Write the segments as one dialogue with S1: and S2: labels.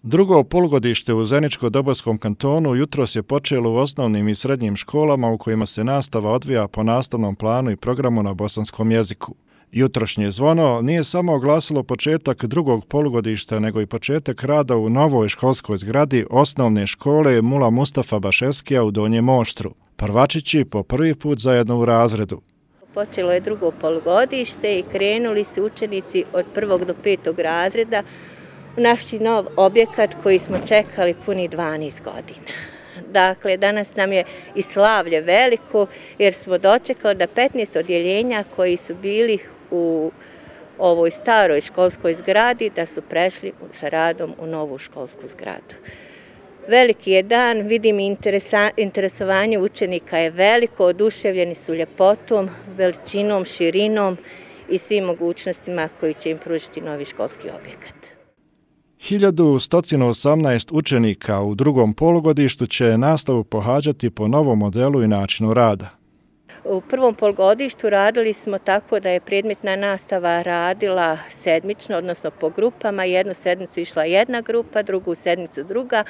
S1: Drugo polugodište u Zeničko-Dobojskom kantonu jutros je počelo u osnovnim i srednjim školama u kojima se nastava odvija po nastavnom planu i programu na bosanskom jeziku. Jutrošnje zvono nije samo oglasilo početak drugog polugodišta, nego i početak rada u novoj školskoj zgradi osnovne škole Mula Mustafa Bašeskija u Donjem Oštru. Prvačići po prvi put zajedno u razredu.
S2: Počelo je drugo polugodište i krenuli su učenici od 1. do 5. razreda u naš nov objekat koji smo čekali puni 12 godina. Dakle, danas nam je i slavlje veliko jer smo dočekali da 15 odjeljenja koji su bili u ovoj staroj školskoj zgradi da su prešli sa radom u novu školsku zgradu. Veliki je dan, vidim interesovanje učenika je veliko, oduševljeni su ljepotom, veličinom, širinom i svim mogućnostima koji će im pružiti novi školski objekat.
S1: 1118 učenika u drugom polugodištu će nastavu pohađati po novom modelu i načinu rada.
S2: U prvom polugodištu radili smo tako da je predmetna nastava radila sedmično, odnosno po grupama. Jednu sedmicu išla jedna grupa, drugu sedmicu druga,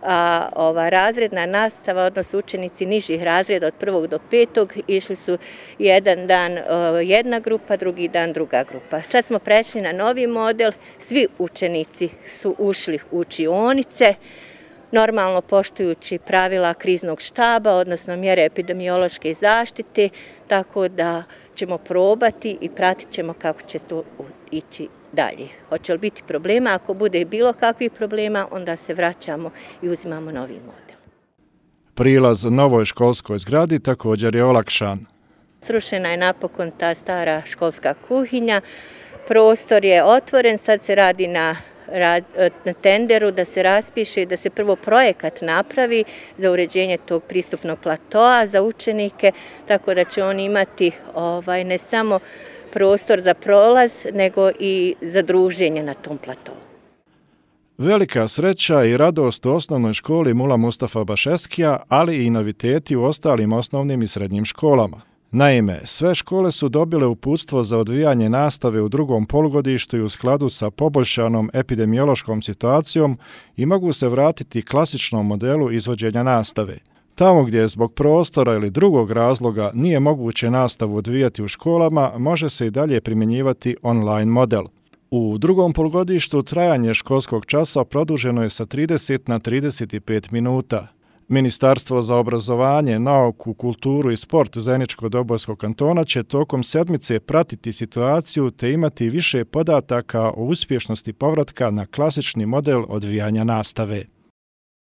S2: a razredna nastava, odnosno učenici nižih razreda od 1. do 5. išli su jedan dan jedna grupa, drugi dan druga grupa. Sad smo prešli na novi model, svi učenici su ušli u učionice, normalno poštujući pravila kriznog štaba, odnosno mjere epidemiološke zaštite, tako da ćemo probati i pratit ćemo kako će to ići dalje. Hoće li biti problema? Ako bude bilo kakvih problema, onda se vraćamo i uzimamo novi model.
S1: Prilaz novoj školskoj zgradi također je olakšan.
S2: Srušena je napokon ta stara školska kuhinja, prostor je otvoren, sad se radi na tenderu da se raspiše i da se prvo projekat napravi za uređenje tog pristupnog platoa za učenike, tako da će oni imati ne samo prostor za prolaz, nego i za druženje na tom platovu.
S1: Velika sreća i radost u osnovnoj školi Mula Mustafa Bašeskija, ali i noviteti u ostalim osnovnim i srednjim školama. Naime, sve škole su dobile uputstvo za odvijanje nastave u drugom polugodištu i u skladu sa poboljšanom epidemiološkom situacijom i mogu se vratiti klasičnom modelu izvođenja nastave. Tamo gdje zbog prostora ili drugog razloga nije moguće nastavu odvijati u školama, može se i dalje primjenjivati online model. U drugom polugodištu trajanje školskog časa produženo je sa 30 na 35 minuta. Ministarstvo za obrazovanje, nauku, kulturu i sport Zeničko-Dobojskog kantona će tokom sedmice pratiti situaciju te imati više podataka o uspješnosti povratka na klasični model odvijanja nastave.